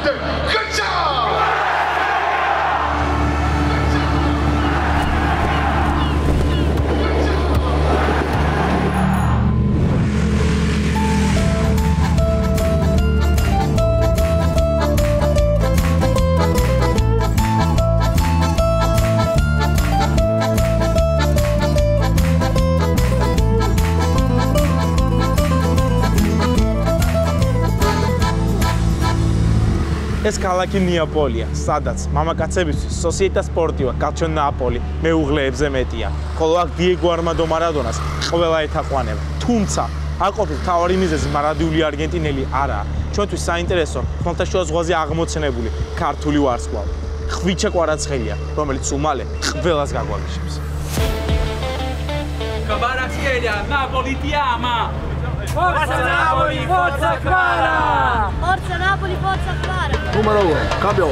Captain, good job! ეს ქალაქი ნეაპოლია, სადაც მამაკაცებისთვის Società Sportiva Calcio Napoli მეუღლეებზე მეტია. ხოლო აქ დიეგო არმანდო მარადონას ყველა ეთაყვანება. თუმცა არ ყოფილ მთავარი მიზეზი მარადიული არგენტინელი არაა. ჩვენთვის საინტერესო ხმელთაშუა ზღვაზე აღმოცენებული ქართული ვარსკვლავი. ხვიჩა კვარაცხელია, რომელიც უმალე ყველას გაგვაგიშებს. Kvaratskhelia, Napoli ti ama! Forza Napoli, forza Kvara! Forza Napoli, forza Kvara! Numero 1, cambio!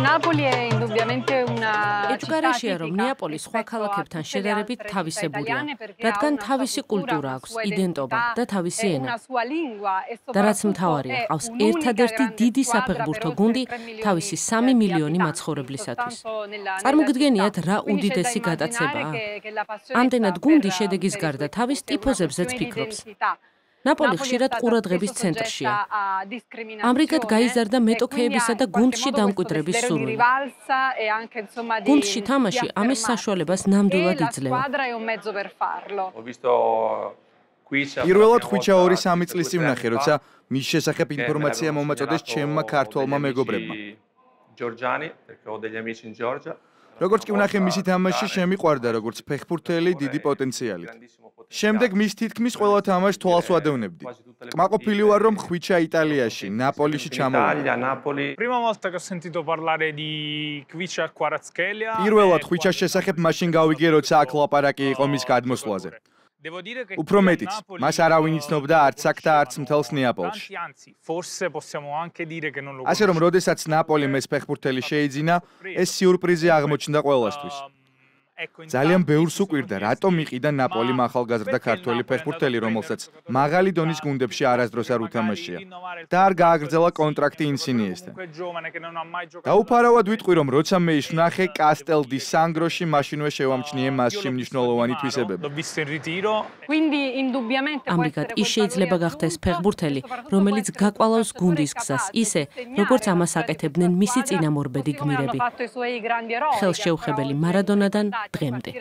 Napoli è indubbiamente una ეჭვგარეშეა, რომ ნეაპოლი სხვა ქალაქებთან შედარებით თავისებურია, რადგან თავისი კულტურა აქვს, იდენტობა და თავისი ენა. და რაც მთავარია, ყავს ერთადერთი დიდი საფეხბურთო გუნდი თავისი 3 მილიონი მაცხოვრებლისათვის. წარმოგიდგენიათ, რა უდიდესი გატაცებაა? ამდენად გუნდი შედეგის გარდა თავის ტიფოზებზეც ფიქრობს. ნაპოლი ხშირად ყურადღების ცენტრშია. ამრიგად გაიზარდა მეტოქეებისა და გუნდში დამკვიდრების სურვილი. გუნდში თამაში ამის საშუალებას ნამდვილად იძლევა. პირველად ხვიჩა 2-3 წლის წინ ვნახე, როცა მის შესახებ ინფორმაცია მომაწოდეს ჩემმა ქართველმა მეგობრებმა. როგორც კი ვნახე მისი თამაში, შემიყვარდა როგორც ფეხბურთელი დიდი პოტენციალით. შემდეგ მის თითქმის ყველა თამაშს თვალს ვადევნებდი. კმაყოფილი ვარ, რომ ხვიჩა იტალიაში, ნაპოლიში ჩამოვიდა. პირველად ხვიჩას შესახებ მაშინ გავიგე, როცა აქ ლაპარაკი იყო მის გადმოსვლაზე. უფრო მეტიც, მას არავინ იცნობდა არც აქ და არც მთელს ნეაპოლში. ასე რომ, როდესაც ნაპოლიმ ეს ფეხბურთელი შეიძინა, ეს სიურპრიზი აღმოჩნდა ყველასთვის. ძალიან ბევრს უკვირდა, რატომ იყიდა ნაპოლიმ ახალგაზრდა ქართველი ფეხბურთელი, რომელსაც მაღალი დონის გუნდებში არასდროს არ უთამაშია და არ გააგრძელა კონტრაქტი ინსინიესთან. დაუფარავად ვიტყვი, რომ როცა მე ის ვნახე კასტელ დი სანგროში, მაშინვე შევამჩნიე მასში მნიშვნელოვანი თვისებები. ამრიგად ის შეიძლება გახდეს ფეხბურთელი, რომელიც გაკვალავს გუნდის გზას ისე, როგორც ამას აკეთებდნენ მისი წინამორბედი გმირები. ხელშეუხებელი მარადონადან დღემდე.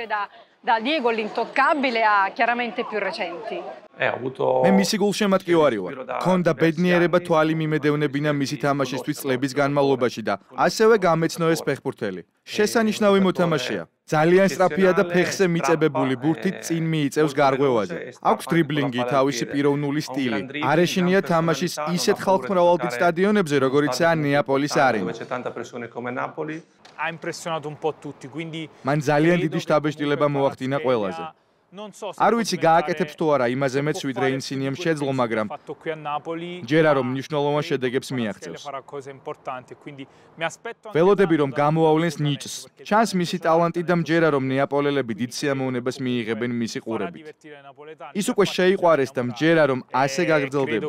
Da Diego l'intoccabile a chiaramente più recenti. მე მისი გულშემატკივარი ვარ. ქონდა ბედნიერება თვალი მიმედევნებინა მისი თამაშისთვის წლების განმავლობაში და ასევე გამეცნო ეს ფეხბურთელი. შესანიშნავი მოთამაშეა. ძალიან სწრაფია და ფეხზე მიწებებული ბურთით წინ მიიწევს გარღვევაზე. აქვს დრიბლინგი, თავისი პიროვნული სტილი. არეშინია თამაშის ისეთ ხალხმრავალდიდ სტადიონებზე, როგორიცაა ნეაპოლის არენა. მან ძალიან დიდი შთაბეჭდილება მოახდინა ყველაზე. არ ვიცი გააკეთებს თუ არა იმაზე მეც ვიდრე ინსინიემ შეძლო, მაგრამ ჯერა რომ მნიშვნელოვან შედეგებს მიაღწევს. ველოდები რომ გამოავლენს ნიჭს. ჩანს მისი ტალანტი და მჯერა რომ ნეაპოლელები დიდ სიამოვნებას მიიღებენ მისი ყურებით. ის უკვე შეიყვარეს და მჯერა რომ ასე გაგრძელდება.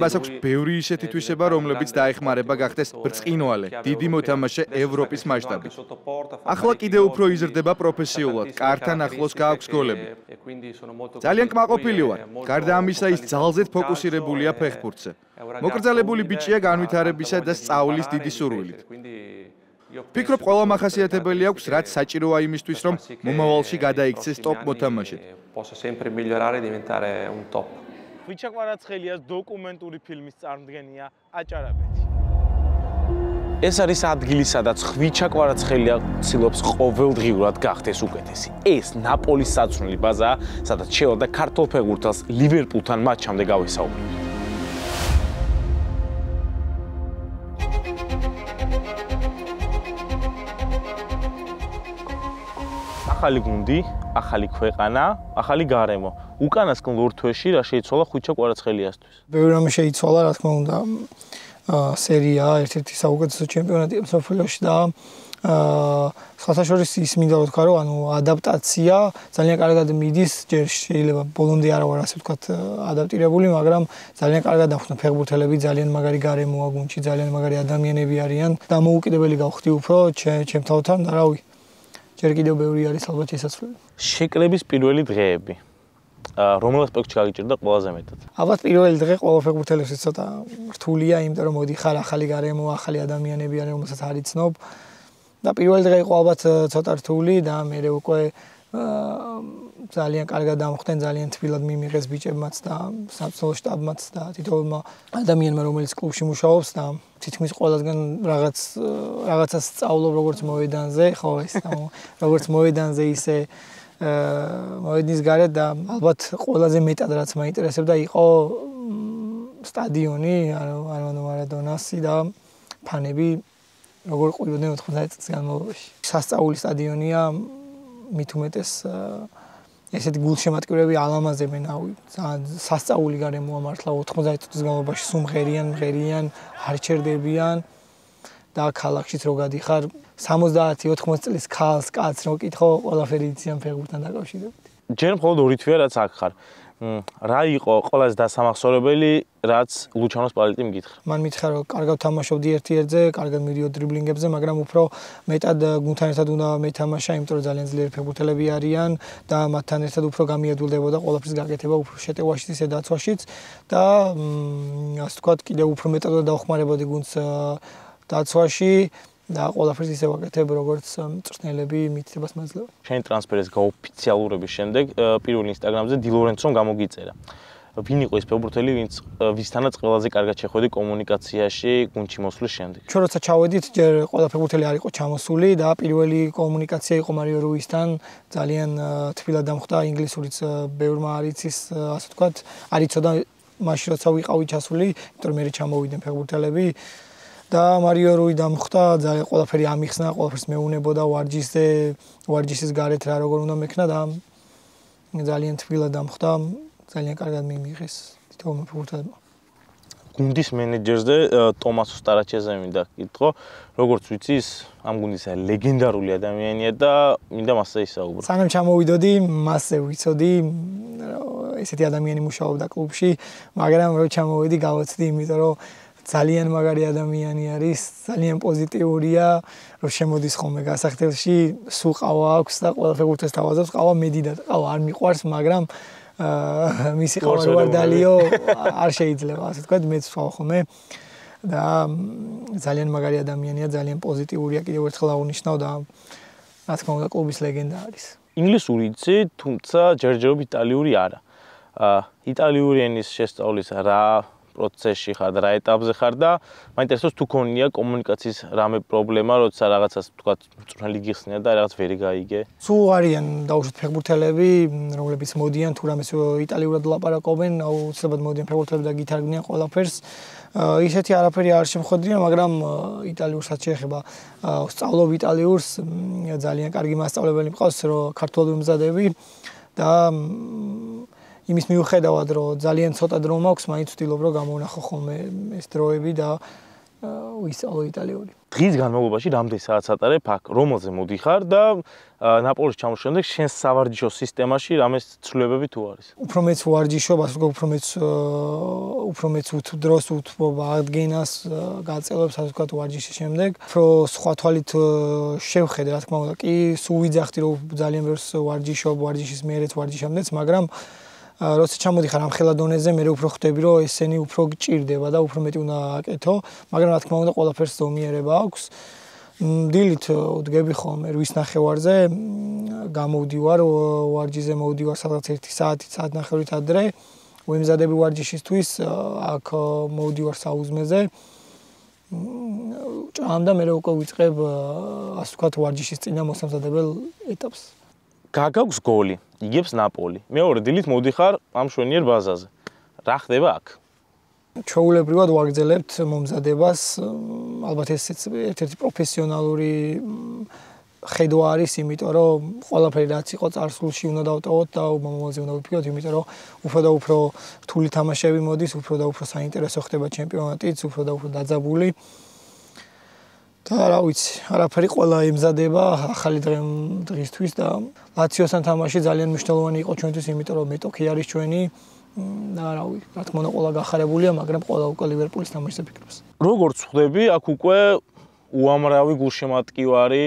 მას აქვს ბევრი ისეთი თვისება, რომლებიც დაეხმარება გახდეს ბრწყინვალე, დიდი მოთამაშე ევროპის მასშტაბით. ახლა კიდევ უფრო იზრდება პროფესიულად, კართან ახლოს გააქვს გოლები. ძალიან კმაყოფილი ვარ. გარდა ამისა, ის ძალზედ ფოკუსირებულია ფეხბურთზე. მოკრძალებული ბიჭია განვითარებისა და სწავლის დიდი სურვილით. ფიქრობ, ყველა მახასიათებელი აქვს, რაც საჭიროა იმისთვის, რომ მომავალში გადაიქცეს ტოპ მოთამაშედ. ხვიჩა კვარაცხელიას დოკუმენტური ფილმის წარმოდგენია აჭარაბეთი. ეს არის ადგილი, სადაც ხვიჩა კვარაცხელია ცდილობს ყოველდღიურად გახდეს უკეთესი. ეს ნაპოლის საწვრთნელი ბაზაა, სადაც შევალდა ქართულ ფეხბურთელს ლივერპულთან მატჩამდე გავისაუბრებთ. ახალი გუნდი, ახალი ქვეყანა, ახალი გარემო. უკანასკნელ ორ თვეში რა შეიცვალა ხვიჩა კვარაცხელიასთვის? ბევრი რამე შეიცვალა, რა თქმა უნდა. სერია ერთ-ერთი საუკეთესო ჩემპიონატია მსოფლიოში და სხვათა შორის ის მინდა ვთქვა, რომ ანუ ადაპტაცია ძალიან კარგად მიდის, ჯერ შეიძლება ბოლომდე არ ვარ ასე ვთქვათ ადაპტირებული, მაგრამ ძალიან კარგად დახვნა ფეხბურთელები, ძალიან მაგარი გარემოა გუნდში, ძალიან მაგარი ადამიანები არიან. დამოუკიდებელი გავხდი უფრო ჩემთავთან და რავი, ჯერ კიდევ ბევრი არის ალბათ შესაძლებელი. შეკრების პირველი დღეები. რომელ ასპექტში გაგიჭირდა ყველაზე მეტად? ალბათ პირველი დღე ყველა ფეხბურთელისთვის ცოტა რთულია, იმიტომ რომ მოდიხარ ახალი გარემო, ახალი ადამიანები არიან, რომელსაც არ იცნობ. და პირველი დღე იყო ალბათ ცოტა რთული და მე უკვე ძალიან კარგად დამხვდნენ, ძალიან თბილად მიმიღეს ბიჭებმაც და სამწუხაროდ შტაბმაც და თითოეულმა ადამიანმა, რომელიც კლუბში მუშაობს და თითქმის ყველასგან რაღაცას სწავლობ როგორც მოედანზე, ხო ეს როგორც მოედანზე ისე მოედნის გარეთ და ალბათ ყველაზე მეტად რაც მაინტერესებდა იყო სტადიონი, ანუ მარადონასი და ფანები როგორ ყვიოდნენ 90 წლის განმავლობაში. სასწაული სტადიონია, მით უმეტეს ესეთი გულშემატკივრები ალამაზებენ, სასწაული გარემოა მართლა 90 წლის განმავლობაში მღერიან, არ ჩერდებიან და ქალაქშიც რო გადიხარ 70-80 წლის ქალს, კაცს რო კითხო, ყველაფერი იციან ფეხბურთთან დაკავშირებით. ჯერ მხოლოდ ორი თვეა რაც აქ ხარ. რა იყო ყველაზე დასამახსოვრებელი, რაც ლუჩანოს პალეტი მგითხრა? მან მითხრა, რომ კარგად თამაშობდი ერთ-ერთზე, კარგად მიდიო დრიბლინგებზე, მაგრამ უფრო მეტად გუნდთან ერთად უნდა მეთამაშა, იმიტომ რომ ძალიან ძლიერი ფეხბურთელები არიან და მათთან ერთად უფრო გამიადვილდებოდა ყველაფრის გაკეთება, უფრო შეტევაშიც, ისე დაცვაშიც და ასე ვთქვათ, კიდევ უფრო მეტად დავხმარებოდი გუნდს დაცვაში და ყველაფერს ისე ვაკეთებ, როგორც მწვრთნელები მითითებას მაძლევენ. შენი ტრანსფერის გაოფიციალურების შემდეგ პირველ ინსტაგრამზე დი ლორენცომ გამოგიწერა. ვინ იყო ეს ფეხბურთელი, ვისთანაც ყველაზე კარგად შეხვედი კომუნიკაციაში გუნდში მოსვლის შემდეგ? ჩვენ როცა ჩავედით, ჯერ ყველა ფეხბურთელი არ იყო ჩამოსული და პირველი კომუნიკაცია იყო მარიო რუისთან, ძალიან თბილად დამხვდა, ინგლისურიც ბევრმა არ იცის, ასე ვთქვათ, არ იცოდა მაშინ როცა ვიყავი ჩასული, იმიტომ რომ მე ჩამოვიდნენ ფეხბურთელები. და მარიო რუი დამხვდა, ძალიან ყველაფერი ამიხსნა, ყველაფერს მეუნებოდა ვარჯიშის გარეთ რა როგორ უნდა მექნა და ძალიან თბილად დამხვდა, ძალიან კარგად მიმიღეს თითოეულმა ფეხბურთელებმა. გუნდის მენეჯერზე ტომას უსტარაჩეზე მინდა გკითხო, როგორც ვიცი, ის ამ გუნდის ლეგენდარული ადამიანია და მინდა მასზე ისაუბრო. სანამ ჩამოვიდოდი, მასზე ვიცოდი, ესეთი ადამიანი მუშაობდა კლუბში, მაგრამ რო ჩამოვიდი, გავაცდი, იმიტომ რომ ძალიან მაგარი ადამიანი არის, ძალიან პოზიტიურია, რომ შემოდის ხოლმე გასახდელში, სულ ყავა აქვს და ყველა ფეხბურთელს თავაზობს, ყავა მედიდად, ყავა არ მიყვარს, მაგრამ მისი ყავა ვარ დალიო არ შეიძლება, ასე ვთქვათ, მეც ვსვავ ხოლმე და ძალიან მაგარი ადამიანია, ძალიან პოზიტიურია, კიდევ ერთხელ აღნიშნავ და რა თქმა უნდა, კლუბის ლეგენდა არის. ინგლისური იცი, თუმცა ჯერჯერობით იტალიური არა. იტალიური ენის შესწავლის რა პროცესში ხარ და რა ეტაპზე ხარ და მაინტერესებს თუ ქონია კომუნიკაციის რამე პრობლემა, როცა რაღაცას თქვათ მწვრთნელი გიხსნია და რაღაც ვერ გაიგე. სულ არიან დაუშვათ ფეხბურთელები, რომლებიც მოდიან თუ რამეს იტალიურად ლაპარაკობენ, აუცილებლად მოდიან ფეხბურთელები და გითარგმნიან ყველაფერს. ისეთი არაფერი არ შემხვედრია, მაგრამ იტალიურსაც შეეხება სწავლობ იტალიურს, ძალიან კარგი მასწავლებელი მყავს, რომ ქართულად ვიმზადები და იმის მიუხედავად, რომ ძალიან ცოტა დრო მაქვს, მაინც ვცდილობ, რომ გამოვნახო ხოლმე ეს დროები და ვისწავლო იტალიური. დღის განმავლობაში რამდენი საათს ატარებ აქ, რომელზე მოდიხარ და ნაპოლის ჩამოსვლის შემდეგ შენ სავარჯიშო სისტემაში რამე ცვლილებები თუ არის? უფრო მეც ვარჯიშობ, ასე ვთქვათ, უფრო მეც დროს უთმობა, ადგენას, გაწელებს, ასე ვთქვათ, ვარჯიშის შემდეგ. უფრო სხვა თვალით შევხედე, რა თქმა უნდა, კი, სულ ვიძახდი, რომ ძალიან ბევრს ვარჯიშობ, ვარჯიშის მერეც, ვარჯიშამდეც, მაგრამ როცა ჩამოდიხარ ამ ხელა დონეზე, მე უფრო ხვდები, რომ ესენი უფრო გჭირდება და უფრო მეტი უნდა აკეთო, მაგრამ რა თქმა უნდა, ყველაფერს ზომიერება აქვს. დილით ვდგები ხოლმე 8 ნახევარზე, გამოვდივარ ვარჯიშზე, მოვდივარ სადღაც 1 საათი, საათნახევრით ადრე, ვემზადები ვარჯიშისთვის, აქ მოვდივარ საუზმეზე. ჭამ და მე უკვე ვიწყებ, ასე ვთქვათ, ვარჯიშის წინა მოსამზადებელ ეტაპს. გაგაქვს გოლი, იგებს ნაპოლი. მეორე დილით მოდიხარ ამ შვენიერ ბაზაზე. რა ხდება აქ? ჩვეულებრივად ვაგრძელებთ მომზადებას, ალბათ ესეც ერთ-ერთი პროფესიონალური ხედვა არის, იმიტომ რომ ყველაფერი რაც იყო წარსულში უნდა დავტოვოთ და მომავალზე უნდა ვიფიქროთ, იმიტომ რომ უფრო და უფრო რთული თამაშები მოდის, უფრო და უფრო საინტერესო ხდება ჩემპიონატიც, უფრო და უფრო დაძაბული. და რა ვიცი, არაფერი ყველა ემზადება ახალი დღისთვის და ლაციოსთან თამაში ძალიან მნიშვნელოვანი იყო ჩვენთვის, იმიტომ რომ მეტოქი არის ჩვენი და რა ვიცი, რა თქმა უნდა ყველა გახარებულია, მაგრამ ყველა უკვე ლივერპულის თამაშზე ფიქრობს. როგორც ხვდები, აქ უკვე უამრავი გულშემატკივარი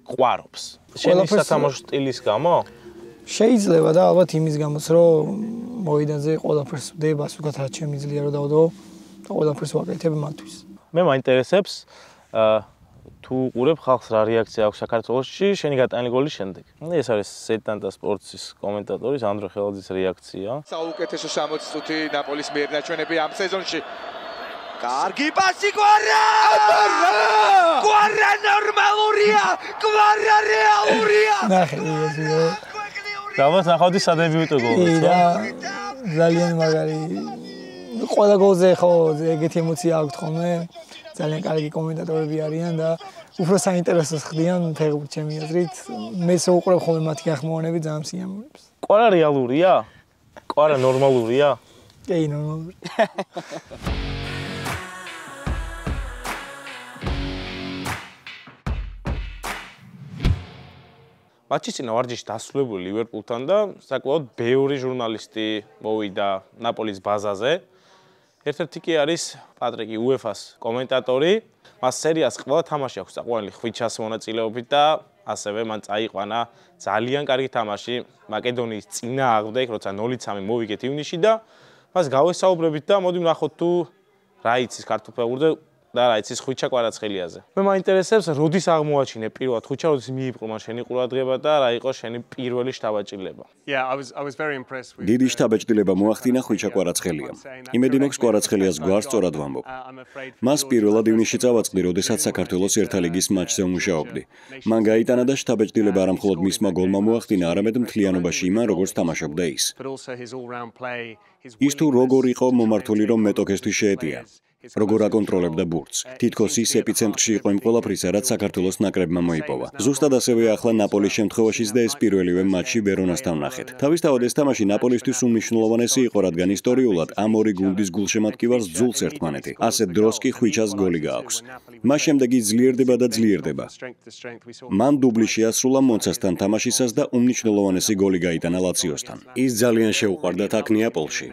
ყვარობს. შენი სათამაშო სტილის გამო? შეიძლება და ალბათ იმის გამოც, რომ მოედანზე ყველაფერს ვდებას, უკეთ რაც შემიძლია რომ დავდო და ყველაფერს ვაკეთებ მათთვის. მე მაინტერესებს თუ უყურებ ხალხს რა რეაქცია აქვს საქართველოში შენი გატანილი გოლის შემდეგ. ეს არის სეტანტა სპორტის კომენტატორის ანდრო ხელაძის რეაქცია. საუკეთესო 60 წუთი ნაპოლის მიერ ნაჩვენები ამ სეზონში. კარგი პასი კვარა! კვარა ნორმალურია! კვარა რეალურია! ნახე, იგივე. დავას ნახავდი სადებიუტო გოლს. და ძალიან მაგარი ყველა გოლზე ხო ეგეთი ემოცია აქვს ხოლმე. ძალიან კარგი კომენტატორები არიან და უფრო საინტერესოს ხდიან ფეხბურთს ჩემი აზრით. მე შეუყურებ ხოლმე მათი ახმოვანები ძალიან სიამოვნებს. კვარა რეალურია? კვარა ნორმალურია? კი, ნორმალური. მატჩის წინა ვარჯიში დასრულებული ლივერპულთან და საკმაოდ ბევრი ჟურნალისტი მოვიდა ნაპოლის ბაზაზე. ერთ-ერთი კი არის პატრიკი უეფას კომენტატორი. მას სერიას ყველა თამაში აქვს საყვარელი ხვიჩას მონაწილეობით და ასევე მან წაიყვანა ძალიან კარგი თამაში მაკედონიის წინააღმდეგ, როცა 0-3 მოვიგეთ ივნისში და მას გავესაუბრებით და მოდი ვნახოთ თუ რა იცის ქართულ ფეხბურთზე და რა იცის ხვიჩა კვარაცხელიაზე. მე მაინტერესებს, როდის აღმოაჩინე პირველად ხვიჩა, როდის მიიპყრო მან შენი ყურადღება და რა იყო შენი პირველი შთაბეჭდილება? დიდი შთაბეჭდილება მოახდინა ხვიჩა კვარაცხელიამ. იმედი მაქვს კვარაცხელიას გვარს სწორად ვამბობ. მას პირველად ივნისში წავაწყდი, როდესაც საქართველოს ერთა ლიგის მატჩზე ვმუშაობდი. მან გაიტანა და შთაბეჭდილება არა მხოლოდ მისმა გოლმა მოახდინა, არამედ მთლიანობაში იმან, როგორც თამაშობდა ის. ის თუ როგორ იყო მომართული, რომ მეტოქესთვის შეეტია. როგორ აკონტროლებდა ბურთს. თითქოს ის ეპიცენტრში იყო იმ ყველაფრისა, რაც საქართველოს ნაკრებმა მოიპოვა. ზუსტად ასევე ახლა ნაპოლის შემთხვევაშიც და ეს პირველივე მატჩი ვერონასთან ვნახეთ. თავისთავად ეს თამაში ნაპოლისთვის უმნიშვნელოვანესი იყო, რადგან ისტორიულად ამ ორი გუნდის გულშემატკივარს ძულს ერთმანეთი. ასეთ დროს კი ხვიჩას გოლი გააქვს. მას შემდეგ ის ძლიერდება და ძლიერდება. მან დუბლი შეასრულა მონცასთან თამაშისას და უმნიშვნელოვანესი გოლი გაიტანა ლაციოსთან. ის ძალიან შეუყვარდათ აქ ნეაპოლში.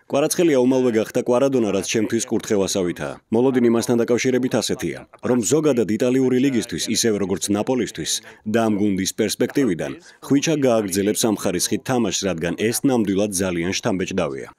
კვარაცხელია უმალვე გახდა კვარადონა, რაც ჩემთვის კურთხევასავითაა. მოლოდინი მასთან დაკავშირებით ასეთია, რომ ზოგადად იტალიური ლიგისთვის, ისევე როგორც ნაპოლისთვის და ამ გუნდის პერსპექტივიდან, ხვიჩა გააგრძელებს ამ ხარისხით თამაშს, რადგან ეს ნამდვილად ძალიან შთამბეჭდავია.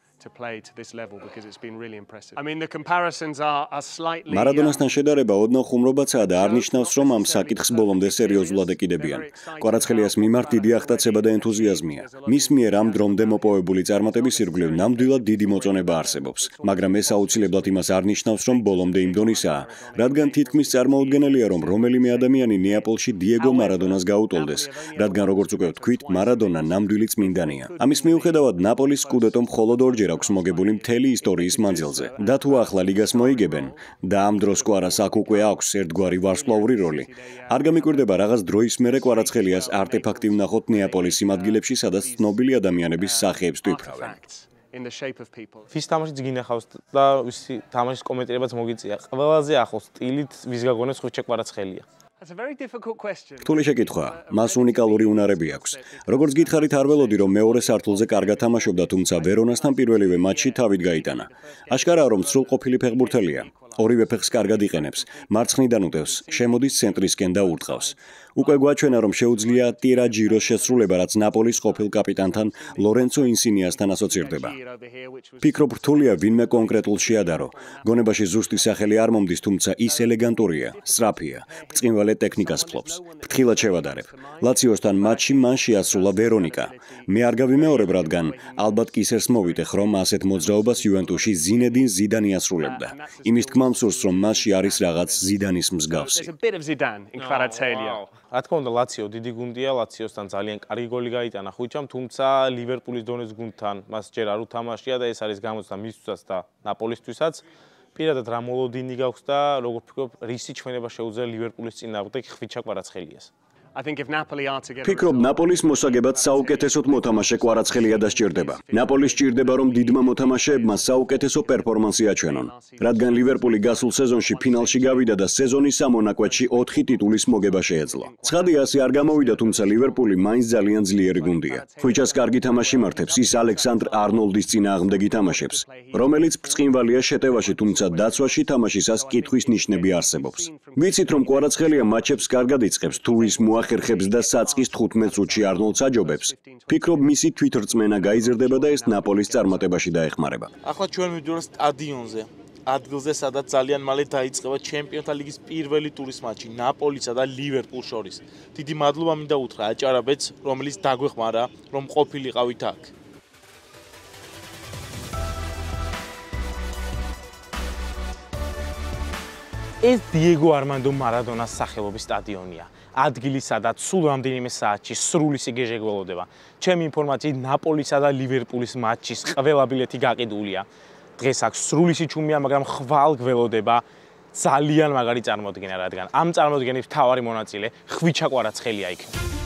მარადონასთან შედარება ოდნავ ხუმრობაცაა და არ ნიშნავს, რომ ამ საკითხს ბოლომდე სერიოზულად ეკიდებიან. კვარაცხელიას მიმართ დიდი აღტაცება და ენთუზიაზმია. მის მიერ ამ დრომდე მოპოვებული წარმატების ირგვლივ ნამდვილად დიდი მოწონება არსებობს, მაგრამ ეს აუცილებლად იმას არ ნიშნავს, რომ ბოლომდე იმ დონისაა, რადგან თითქმის წარმოუდგენელია, რომ რომელიმე ადამიანი ნეაპოლში დიეგო მარადონას გაუტოლდეს, რადგან როგორც უკვე ვთქვით, მარადონა ნამდვილი წმინდანია. ამის მიუხედავად ნაპოლის სკუდეტო მხოლოდ ორჯერ აქვს მოგებული მთელი ისტორიის მანძილზე. და თუ ახლა ლიგას მოიგებენ და ამ დროს კვარას აქ უკვე აქვს ერთგვარი ვარსკვლავური როლი, არ გამიკვირდება რაღაც დროის მერე კვარაცხელიას არტეფაქტი ვნახოთ ნეაპოლის იმ ადგილებში, სადაც ცნობილი ადამიანების სახეებს თვიფრავენ. ვის თამაშიც გინახავს და ვისი თამაშის კომენტირებაც მოგიწია. ყველაზე ახლოს სტილით ვის გაგონებს ხვიჩა კვარაცხელია? რთული შეკითხვაა. მას უნიკალური უნარები აქვს. როგორც გითხარით, არ ველოდი, რომ მეორე სართულზე კარგად თამაშობდა, თუმცა ვერონასთან პირველივე მატჩში თავით გაიტანა. აშკარაა, რომ სრულყოფილი ფეხბურთელია. ორივე ფეხს კარგად იყენებს, მარცხნიდან უტევს, შემოდის ცენტრისკენ და ურტყავს. უკვე გვაჩვენა, რომ შეუძლია ტირაჯიროს შესრულება, რაც ნაპოლის ყოფილ კაპიტანთან ლორენცო ინსინიასთან ასოცირდება. ფიქრობ, რთულია ვინმე კონკრეტულ შეადარო. გონებაში ზუსტი სახელი არ მომდის, თუმცა ის ელეგანტურია, სწრაფია, ბრწყინვალე ტექნიკას ფლობს. ფრთხილად შევადარებ. ლაციოსთან მატჩში მან შეასრულა ვერონიკა. მე არ გავიმეორებ, რადგან ალბათ კისერს მოვიტეხ, რომ ასეთ მოძრაობას იუვენტუსში ზინედინ ზიდანი ასრულებდა. იმის თქმა მსურს, რომ მასში არის რაღაც ზიდანის მსგავსი. რა თქმა უნდა, ლაციო დიდი გუნდია, ლაციოსთან ძალიან კარგი გოლი გაიტანა ხვიჩამ, თუმცა ლივერპულის დონეს გუნდთან მას ჯერ არ უთამაშია და ეს არის გამოცდა მისთვისაც და ნაპოლისთვისაც. პირადად რა მოლოდინი გაქვს და როგორ ფიქრობ, რისი ჩვენება შეუძლია ლივერპულის წინააღმდეგ ხვიჩა კვარაცხელიას? ფიქრობ, ნაპოლის მოსაგებად საუკეთესოდ მოთამაშე კვარაცხელია და სჭირდება. ნაპოლის სჭირდება, რომ დიდმა მოთამაშეებმა საუკეთესო პერფორმანსი აჩვენონ, რადგან ლივერპული გასულ სეზონში ფინალში გავიდა და სეზონის სამონაკვეთში 4 ტიტულის მოგება შეეძლო. ცხადია, ასე არ გამოვიდა, თუმცა ლივერპული მაინც ძალიან ძლიერი გუნდია. ხუჭას კარგი თამაში მართებს, ის ალექსანდრ არნოლდის წინააღმდეგ ითამაშებს, რომელიც ბრწყინვალეა შეტევაში, თუმცა დაცვაში თამაშისას კითხვის ნიშნები არსებობს. ვიცით, რომ კვარაცხელია მატჩებს კარგად იწყებს, თუ ის მოახერხებს და საწყის 15 წუთში არნოლდს აჯობებს. ფიქრობ, მისი თვითრწმენა გაიზრდება და ეს ნაპოლის წარმატებაში დაეხმარება. ახლა ჩვენ მივდივართ სტადიონზე. ადგილზე, სადაც ძალიან მალე დაიწყება ჩემპიონთა ლიგის პირველი ტურის მატჩი ნაპოლისა და ლივერპულს შორის. დიდი მადლობა მინდა უთხრა აჭარაბეთს, რომელიც დაგვეხმარა, რომ ყოფილიყავით აქ. ეს დიეგო არმანდო მარადონას სახელობის სტადიონია. ადგილი, სადაც სულ რამდენიმე საათში სრული სიგეჟე გველოდება. ჩემი ინფორმაციით, ნაპოლისა და ლივერპულის მატჩის ყველა ბილეთი გაყიდულია. დღეს აქ სრული სიჩუმეა, მაგრამ ხვალ გველოდება ძალიან მაგარი წარმოდგენა, რადგან ამ წარმოდგენის მთავარი მონაწილე ხვიჩა კვარაცხელია იქნება.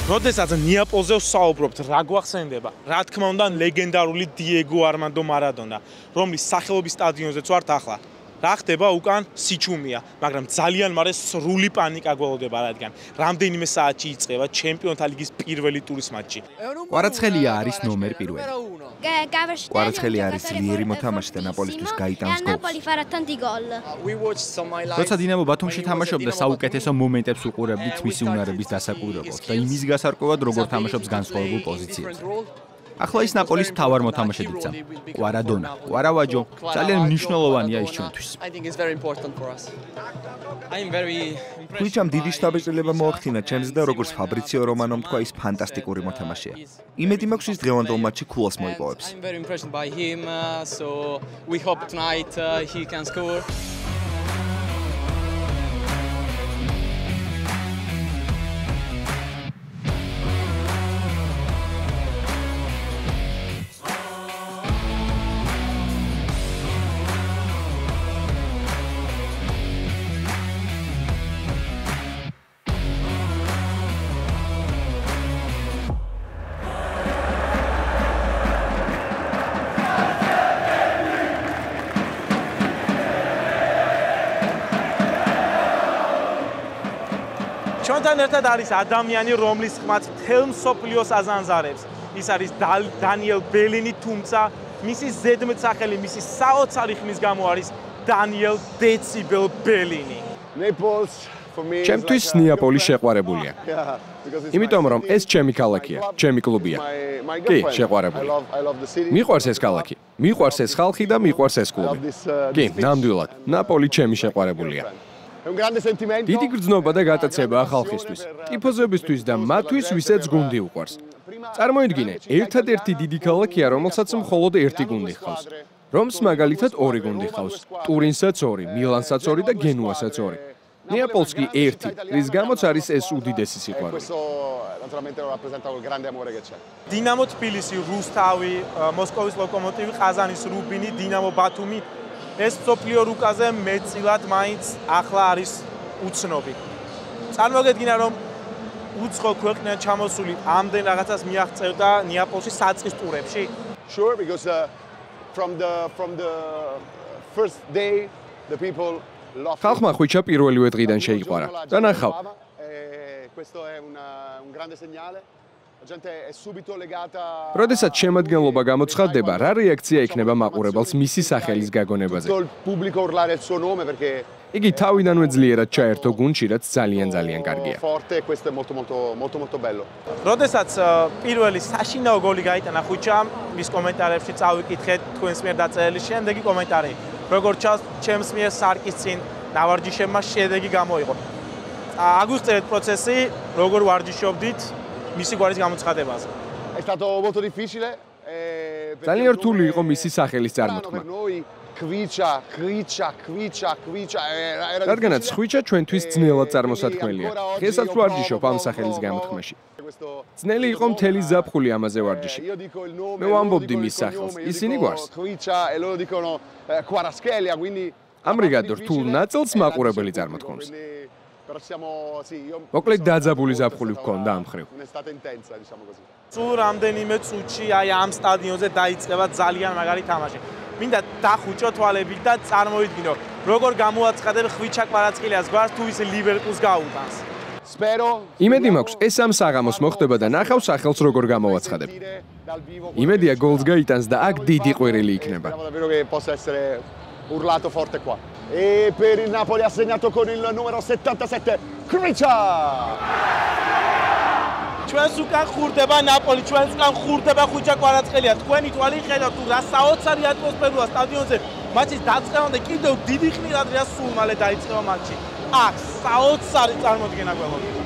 როდესაც ნეაპოლზე ვსაუბრობთ, რა გვახსენდება? რა თქმა უნდა, ლეგენდარული დიეგო არმანდო მარადონა, რომლის სახელობის სტადიონზეც ვართ ახლა. რა ხდება უკან? სიჩუმეა, მაგრამ ძალიან მალე სრული პანიკა გველოდება, რადგან რამდენიმე საათში იწყება ჩემპიონთა ლიგის პირველი ტურის მატჩი. კვარაცხელია არის ნომერ პირველი. კვარაცხელი არის ძლიერი მოთამაშე და ნაპოლისთვის გაიტანს გოლს. როცა დინამო ბათუმში თამაშობდა, საუკეთესო მომენტებს უყურებდით მისი უნარების დასაკვირვებლად და იმის გასარკვევად, როგორ თამაშობს განსხვავებულ პოზიციებზე. ახლა ის ნაპოლის მთავარ მოთამაშედ იქცა. კვარადონა, კვარავაჯო, ძალიან მნიშვნელოვანია ის ჩვენთვის. ხვიჩამ დიდი შთაბეჭდილება მოახდინა ჩემს და როგორც ფაბრიციო რომანომ თქვა, ის ფანტასტიკური მოთამაშეა. იმედი მაქვს, ის დღევანდელ მატჩში ქულას მოიპოვებს. ჩვენთან ერთად არის ადამიანი, რომლის ხმაც მთელ მსოფლიოს აზანზარებს. ის არის დანიელ ბელინი, თუმცა მისი ზედმეტსახელი, მისი საოცარი ხმის გამო არის დანიელ დეციბელ ბელინი. ჩემთვის ნეაპოლი შეყვარებულია. იმიტომ რომ ეს ჩემი ქალაქია, ჩემი კლუბია. კი, შეყვარებული. მიყვარს ეს ქალაქი, მიყვარს ეს ხალხი და მიყვარს ეს კლუბი. კი, ნამდვილად, ნაპოლი ჩემი შეყვარებულია. დიდი გრძნობა და გატაცებაა ხალხისთვის, ტიფოზებისთვის და მათთვის, ვისაც გუნდი უყვარს. წარმოიდგინე, ერთადერთი დიდი ქალაქია, რომელსაც მხოლოდ ერთი გუნდი ჰყავს. რომს მაგალითად 2 გუნდი ჰყავს, ტურინსაც 2, მილანსაც 2 და გენუასაც 2. ნეაპოლს კი 1, რის გამოც არის ეს უდიდესი სიყვარული. დინამო თბილისი, რუსთავი, მოსკოვის ლოკომოტივი, ყაზანის რუბინი, დინამო ბათუმი ეს მსოფლიო რუკაზე მეტწილად მაინც ახლა არის უცნობი. წარმოგედგინა, რომ უცხო ქვეყნიდან ჩამოსული ამდენ რაღაცას მიაღწევდა ნეაპოლში საწყის ტურებში? ხალხმა ხვიჩა პირველივე დღიდან შეიყვარა და ნახავ. როდესაც შემადგენლობა გამოცხადდება, რა რეაქცია იქნება მაყურებელს მისი სახელის გაგონებაზე? იგი თავიდანვე ძლიერად ჩაერთო გუნდში, რაც ძალიან კარგია. როდესაც პირველი საშინაო გოლი გაიტანა ხვიჩამ, მის კომენტარებში წავიკითხეთ თქვენს მიერ დაწერილი შემდეგი კომენტარი. როგორც ჩანს, ჩემს მიერ სარკის წინ დავარჯიშებმა შედეგი გამოიღო. აგვიხსენეთ პროცესი, როგორ ვარჯიშობდით მისი გვარის გამოცხადებაზე. ძალიან რთული იყო მისი სახელის წარმოთქმა. რადგანაც ხვიჩა ჩვენთვის ძნელად წარმოსათქმელია. დღესაც ვარჯიშობ ამ სახელის გამოთქმაში. ძნელი იყო მთელი ზაფხული ამაზე ვარჯიში. მე ვამბობდი მის სახელს, ისინი გვარს. ამრიგად რთულ ნაწილს მაყურებელი წარმოთქმობს. მოკლედ დაძაბული ზაფხული ვქონდა ამ ხრივ. სულ რამდენიმე წუთში აი ამ სტადიონზე დაიწყება ძალიან მაგარი თამაში. მინდა დახუჭო თვალებით და წარმოიდგინო, როგორ გამოაცხადებ ხვიჩა კვარაცხელიას გვარს თუ ის ლივერპულს გაუტანს. იმედი მაქვს, ეს ამ საღამოს მოხდება და ნახავ სახელს როგორ გამოვაცხადებ. იმედია გოლს გაიტანს და აქ დიდი ყვირილი იქნება. Urlato forte qua. E per il Napoli ha segnato con il numero 77 Khvicha. ჩვენს უკან ხურდება ნაპოლი, ჩვენს უკან ხურდება ხვიჩა კვარაცხელია. თქვენი თვალი ხედავთ თუ რა საოცარი ატმოსფეროა სტადიონზე. მატჩის დაწყებამდე კიდევ დიდი ხნით ადრეა სულ მალე დაიწყება მატჩი. აქ საოცარი წარმოდგენა გველოდება.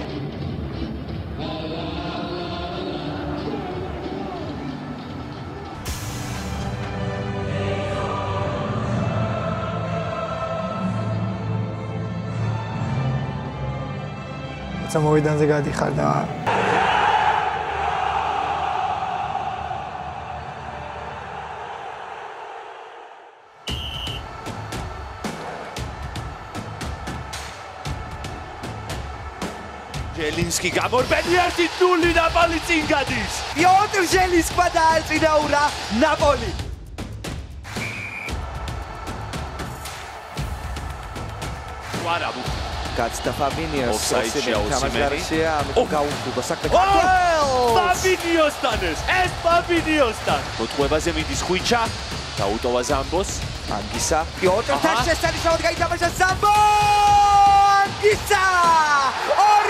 მოედანზე გადიხარ და ჟელინსკი გამორბენი 1-0 ნაპოლი წინ გადის. პიოტრ ჟელინსკმა დააწინაურა ნაპოლი. ვარაბუ Gazda Fabinhos, თამაშგარშია, ამიტომ გაუხდება საქმე. Fabinhos-თან ეს Fabinhos-თან. მოთხოვებაზე მიდის ხვიჩა, დაუტოვა ზამბოს. ანგისა, პიოტრთან შესანიშნავად გაითამაშა ზამბო! ანგისა!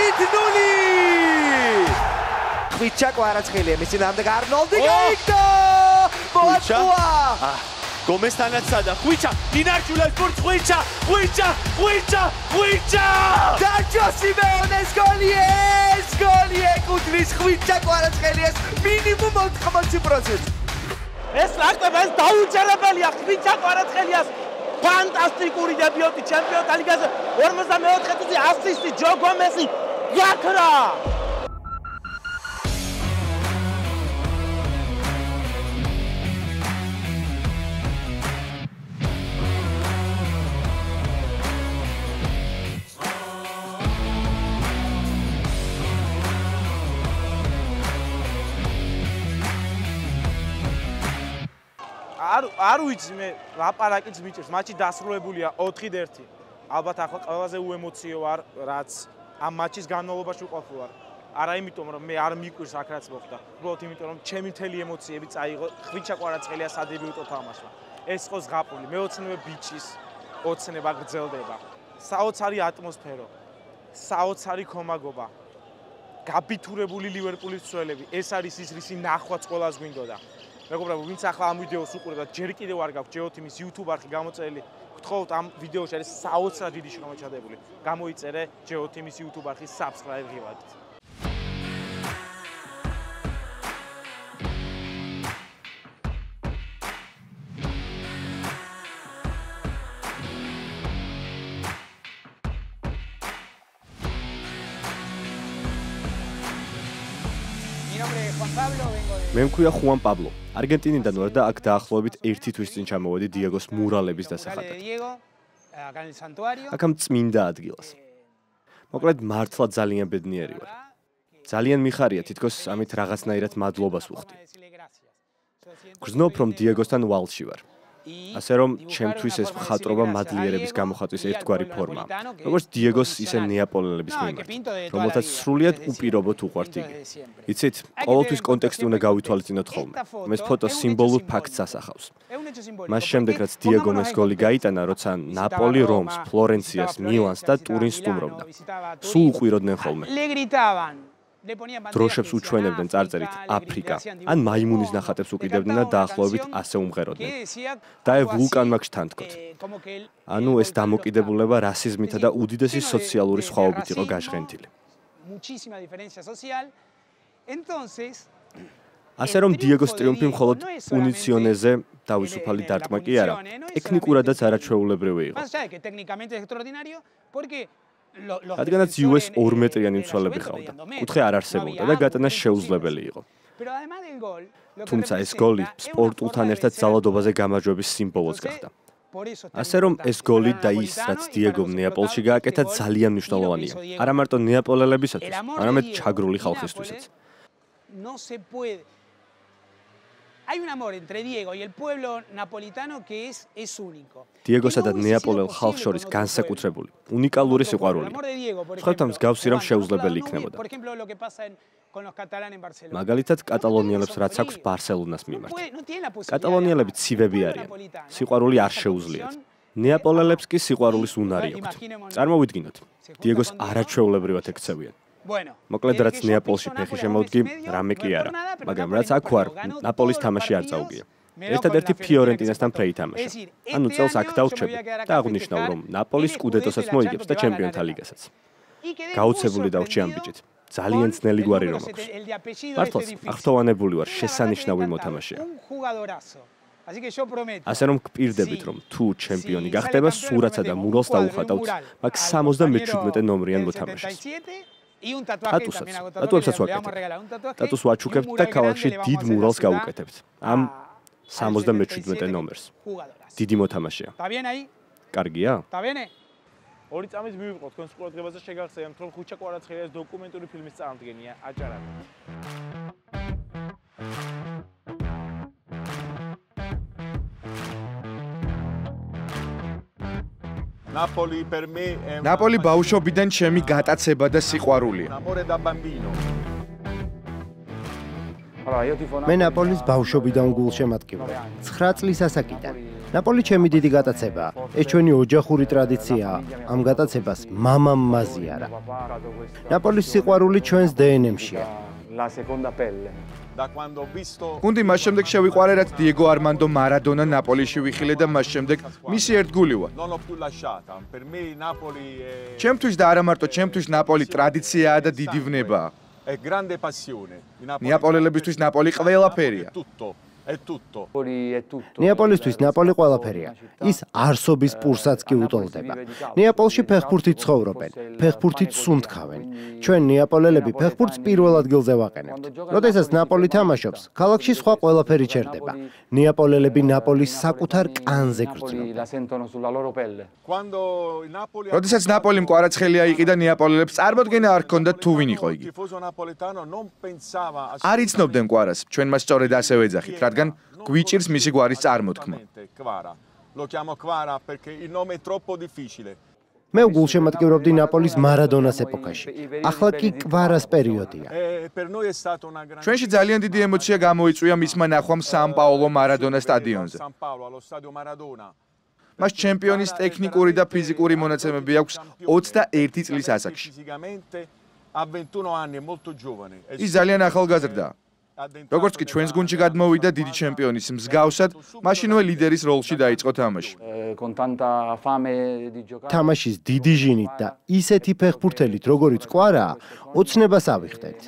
2-0! ხვიჩა კვარაცხელია, მის წინააღმდეგ არნოლდი გაიგდო! მოაწვა! გომესთანაც სადა ხვიჩა, დინარჩულებს ბურთს ხვიჩა! დაჯო სიმეონეს გოლი ეკუთვნის ხვიჩა კვარაცხელიას მინიმუმ 80%. ეს რაკება ეს დაუჯერებელია ხვიჩა კვარაცხელიას. ფანტასტიკური დებიუტი ჩემპიონთა ლიგაზე 54 წუთი ასისტი ჯო გომესი გაქრა. არ ვიცი მე ლაპარაკიც მიჭირს, მატჩი დასრულებულია 4-1. ალბათ ახლა ყველაზე უემოციო ვარ, რაც ამ მატჩის განმავლობაში ვყოფილ ვარ. არა იმიტომ რომ მე არ მიკვირს აქ რაც მოხდა, უბრალოდ იმიტომ რომ ჩემი მთელი ემოციები წაიღო ხვიჩა კვარაცხელიას სადებიუტო თამაშმა. ეს იყო ზღაპული, მეოცნებე ბიჭის ოცნება გრძელდება. საოცარი ატმოსფერო, საოცარი ხომაგობა. გაბითურებული ლივერპულის მცველები, ეს არის ის რისი ნახვაც ყველას გვინდოდა. მეგობრებო, ვინც ახლა ამ ვიდეოს უყურებთ და ჯერ კიდევ არ გაქვთ GeoTeam-ის YouTube არხი გამოწერილი, გთხოვთ ამ ვიდეოში არის საოცრად დიდი შრომა ჩადებული. გამოიწერე GeoTeam-ის YouTube არხის subscribe ღილაკით. მე მქვია ხუან პაბლო. არგენტინიდან ვარ და აქ დაახლოებით 1 თვის წინ ჩამოვედი დიეგოს მურალების დასახადად. აქ ამ წმინდა ადგილას. მოკლედ მართლა ძალიან ბედნიერი ვარ. ძალიან მიხარია თითქოს ამით რაღაცნაირად მადლობას ვუხდი. გრძნობ რომ დიეგოსთან ვალში ვარ. ასე რომ ჩემთვის ეს მხატვრობა მადლიერების გამოხატვის ერთგვარი ფორმაა. როგორც დიეგოს, ისე ნეაპოლელების მიმართ, რომელთაც სრულიად უპირობოდ უყვართ იგი. იცით, ყოველთვის კონტექსტი უნდა გავითვალისწინოთ ხოლმე. ეს ფოტო სიმბოლურ ფაქტს ასახავს. მას შემდეგ, რაც დიეგომ ეს გოლი გაიტანა, როცა ნაპოლი რომს, ფლორენციას, მილანს და ტურინს სტუმრობდა. სულ უყვიროდნენ ხოლმე. დროშებს უჩვენებდნენ წარწერით აფრიკა, ან მაიმუნის ნახატებს უკიდებდნენ და დაახლოებით ასე უმღეროდნენ. დაე ვულკანმა გშთანთქოთ. ანუ ეს დამოკიდებულება რასიზმითა და უდიდესი სოციალური სხვაობით იყო გაჟღენთილი. ასე რომ დიეგოს ტრიუმფი მხოლოდ უნიციონეზე თავისუფალი დარტყმა კი არა, ტექნიკურადაც არაჩვეულებრივი იყო. რადგანაც US 2 მეტრიანი მცველები ყავდა, კუთხე არ არსებობდა და გატანა შეუძლებელი იყო. თუმცა ეს გოლი სპორტულთან ერთად ძალადობაზე გამარჯვების სიმბოლოც გახდა. ასე რომ ეს გოლი და ის, რაც დიეგომ ნეაპოლში გააკეთა, ძალიან მნიშვნელოვანია. არა მარტო ნეაპოლელებისათვის, არამედ ჩაგრული ხალხისთვისაც. დიეგოსა და ნეაპოლელ ხალხს შორის განსაკუთრებული, უნიკალური სიყვარული. სხვათა მსგავსი რამ შეუძლებელი იქნებოდა. მაგალითად, კატალონიელებს რაც აქვს ბარსელონას მიმართ. კატალონიელები ცივები არიან. სიყვარული არ შეუძლიათ. ნეაპოლელებს კი სიყვარულის უნარი აქვთ. წარმოვიდგინოთ, დიეგოს არაჩვეულებრივად ექცევიან. მოკლედ, რაც ნეაპოლში ფეხი შემოვდგი, რამე კი არა, მაგრამ რაც აქ ვარ, ნაპოლის თამაში არ წაუგია. ერთადერთი ფიორენტინასთან ფრეითამაშა. ანუ წელს აქ დავრჩები და აღვნიშნავ, რომ ნაპოლის სკუდეტოსაც მოიგებს და ჩემპიონთა ლიგასაც. გაუცებული დავრჩი ამ ბიჭით. ძალიან ძნელი გვარი რომ აქვს. მართლაც აღთოვანებული ვარ, შესანიშნავი მოთამაშეა. ასე რომ გპირდებით, რომ თუ ჩემპიონი გახდება, სურათსა და მურალს დაუხატავთ მაგ 77 ნომრიან მოთამაშეს. ტატუებსაც ვაკეთებ. ტატუს ვაჩუქებთ და ქალაქში დიდ მურალს გავუკეთებთ. ამ 77 ნომერს. დიდი მოთამაშეა. კარგია? ორი წამის მივიღო თქვენს ყურადღებაზე შეგახსენებთ, რომ ხუჩა კვარაცხელიას დოკუმენტური ფილმის წარდგენია აჭარად. ნაპოლი ბავშვობიდან ჩემი გატაცება და სიყვარულია. მე ნაპოლის ბავშვობიდან გულშემატკივარი. 9 წლის ასაკიდან. ნაპოლი ჩემი დიდი გატაცებაა. ეს ჩვენი ოჯახური ტრადიციაა. ამ გატაცებას მამამ მაზიარა. ნაპოლის სიყვარული ჩვენს დნმ-შია. გუნდი მას შემდეგ შევიყვარე, რაც დიეგო არმანდო მარადონა ნაპოლიში ვიხილე და მას შემდეგ მისი ერთგულივა. ჩემთვის და არა მარტო ჩემთვის ნაპოლი ტრადიციაა და დიდი ვნებაა. ნეაპოლელებისთვის ნაპოლი ყველაფერია. ნეაპოლისთვის ნაპოლი ყველაფერია. ის არსობის პურსაც კი უტოლდება. ნეაპოლში ფეხბურთით ცხოვრობენ, ფეხბურთით სუნთქავენ. ჩვენ ნეაპოლელები ფეხბურთს პირველ ადგილზე ვაყენებთ. როდესაც ნაპოლი თამაშობს, ქალაქში სხვა ყველაფერი ჩერდება. ნეაპოლელები ნაპოლის საკუთარ კანზე გრძნობენ. როდესაც ნაპოლიმ კვარაცხელია იყიდა ნეაპოლელებს წარმოდგენა არ ჰქონდათ თუ ვინ იყო იგი. არ იცნობდნენ კვარას, ჩვენ მას სწორედ ასევე ეძახით, რადგან გვიჭირს მისი გვარის წარმოთქმა. მე გულშემატკივრობდი ნაპოლის მარადონას ეპოქაში. ახლა კი კვარას პერიოდია. ჩვენში ძალიან დიდი ემოცია გამოიწვია მისმა ნახვამ სან-პაოლო მარადონას სტადიონზე. მას ჩემპიონის ტექნიკური და ფიზიკური მონაცემები აქვს 21 წლის ასაკში. ის ძალიან ახალგაზრდაა. როგორც კი ჩვენს გუნდში გადმოვიდა დიდი ჩემპიონის მსგავსად, მაშინვე ლიდერის როლში დაიწყო თამაში. თამაშის დიდი ჟინით და ისეთი ფეხბურთელით, როგორიც კვარაა, ოცნებას ავიხდეთ.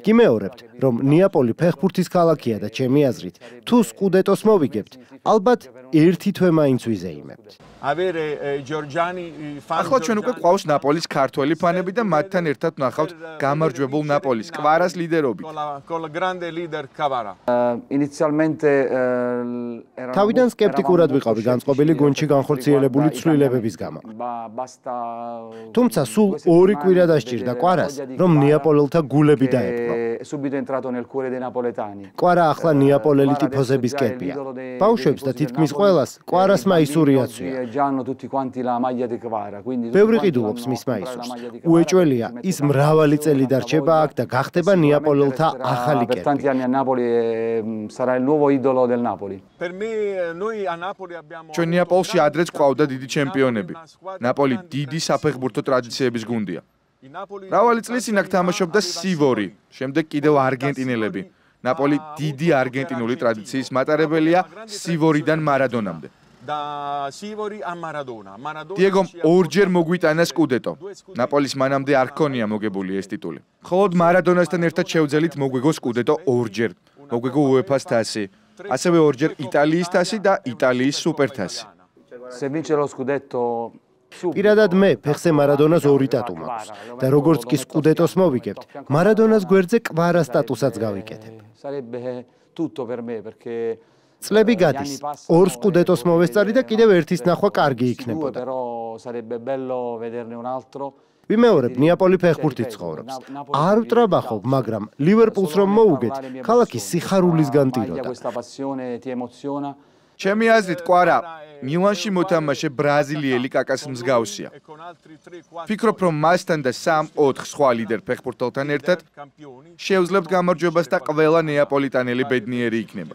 გიმეორებთ, რომ ნეაპოლი ფეხბურთის ქალაქია და ჩემი აზრით, თუ სკუდეტოს მოვიგებთ, ალბათ ერთი თვე მაინც ვიზეიმებთ. ახლა ჩვენ უკვე ყავს ნაპოლის ქართველი ფანები და მათთან ერთად ვნახავთ გამარჯვებულ ნაპოლის კვარას ლიდერობით. თავიდან სკეპტიკურად ვიყავი განწყობილი გუნდში განხორციელებული ცვლილებების გამო. თუმცა სულ 2 კვირა დასჭირდა კვარას, რომ ნეაპოლელთა გულები დაეპყრო. კვარა ახლა ნეაპოლელი ტიფოზების კერპია. ბავშვებს და თითქმის ყველას კვარას მაისური აცვია. ბევრი ყიდულობს მის მაისურს. უეჭველია, ის მრავალი წელი დარჩება აქ და გახდება ნეაპოლელთა ახალი კერპი. ჩვენ ნეაპოლში ადრეც ყავდა დიდი ჩემპიონები. ნაპოლი დიდი საფეხბურთო ტრადიციების გუნდია. მრავალი წლის წინ აქ თამაშობდა სივორი, შემდეგ კიდევ არგენტინელები. ნაპოლი დიდი არგენტინული ტრადიციის მატარებელია სივორიდან მარადონამდე. დიეგომ ორჯერ მოგვიტანა სკუდეტო. ნაპოლის მანამდე არ ჰქონია მოგებული ეს ტიტული. მხოლოდ მარადონასთან ერთად შევძელით მოგვიგო სკუდეტო ორჯერ. მოგვიგო უეფას თასი, ასევე ორჯერ იტალიის თასი და იტალიის სუპერთასი. პირადად მე ფეხზე მარადონას 2 ტატუ მაქვს და როგორც კი სკუდეტოს მოვიგებთ, მარადონას გვერდზე კვარა სტატუსაც გავიკეთებ. წლები გადის, 2 სკუდეტოს მოვესწარი და კიდევ ერთის ნახვა კარგი იქნებოდა. ვიმეორებ, ნეაპოლი ფეხბურთით ცხოვრობს. არ ვტრაბახობ, მაგრამ ლივერპულს რომ მოუგეთ, ქალაქი სიხარულისგან ტიროდა. ჩემი აზრით, კვარა მილანში მოთამაშე ბრაზილიელი კაკას მსგავსია. ფიქრობ, რომ მასთან და 3-4 სხვა ლიდერ ფეხბურთელთან ერთად შევძლებთ გამარჯვებას და ყველა ნეაპოლიტანელი ბედნიერი იქნება.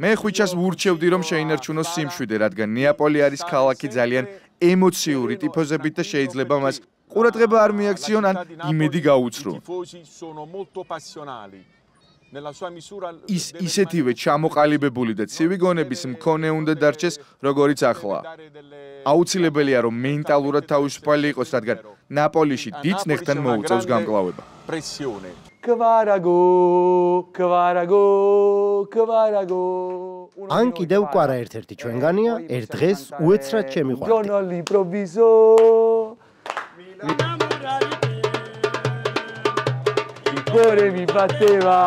მე ხვიჩას ვურჩევდი, რომ შეინარჩუნოს სიმშვიდე, რადგან ნეაპოლი არის ქალაქი ძალიან ემოციური ტიფოზებით და შეიძლება მას ყურადღება არ მიაქციონ ან იმედი გაუცრუონ. ის ისეთივე ჩამოყალიბებული და ცივი გონების მქონე უნდა დარჩეს, როგორიც ახლა. აუცილებელია, რომ მენტალურად თავისუფალი იყოს, რადგან ნაპოლიში დიდ ნეხთან მოუწევს გამკლავება. ან კიდევ კვარა ერთ-ერთი ჩვენგანია, ერთ დღეს უეცრად შემიყვარდი. Il cuore mi batteva,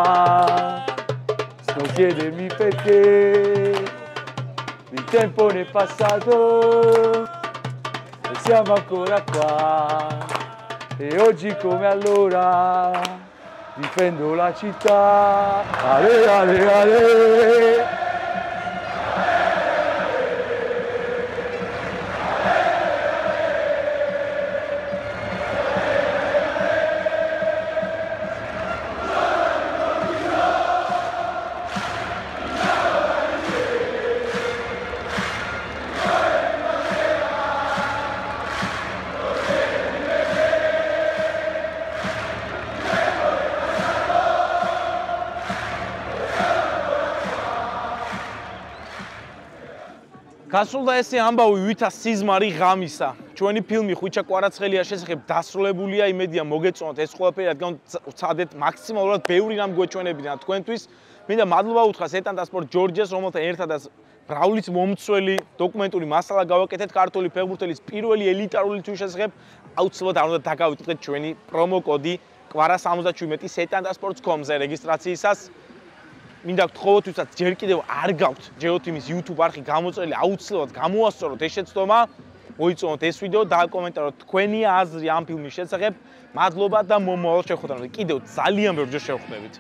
non chiedermi perché, il tempo ne è passato e siamo ancora qua, e oggi come allora difendo la città, ale ale ale. გასულდა ესე ამბავი ვითა სიზმარი ღამისა. ჩვენი ფილმი ხვიჩა კვარაცხელია შესახებ დასრულებულია, იმედია მოგეწონათ ეს ყველაფერი, რადგან ვცადეთ მაქსიმალურად ბევრი რამ გვეჩვენებინა თქვენთვის. მინდა მადლობა უთხრა სეტანტა სპორტ ჯორჯიას, რომელთან ერთადაც ბრაულის მომცველი დოკუმენტური მასალა გავაკეთეთ ქართული ფეხბურთელის პირველი ელიტარული თვლის შესახებ. აუცილებლად არ უნდა დაგავიწყდეთ ჩვენი პრომო კოდი კვარა77 setantasports.com-ზე რეგისტრაციისას. მინდა გთხოვოთ, ვისაც ჯერ კიდევ არ გაქვთ GeoTeam-ის YouTube არხი გამოწერილი, აუცილებლად გამოასწოროთ ეს შეცდომა, მოიწონოთ ეს ვიდეო და აკომენტაროთ თქვენი აზრი ამ ფილმის შესახებ. მადლობა და მომავალ შეხვედრამდე კიდევ ძალიან ბევრჯერ შევხვდებით.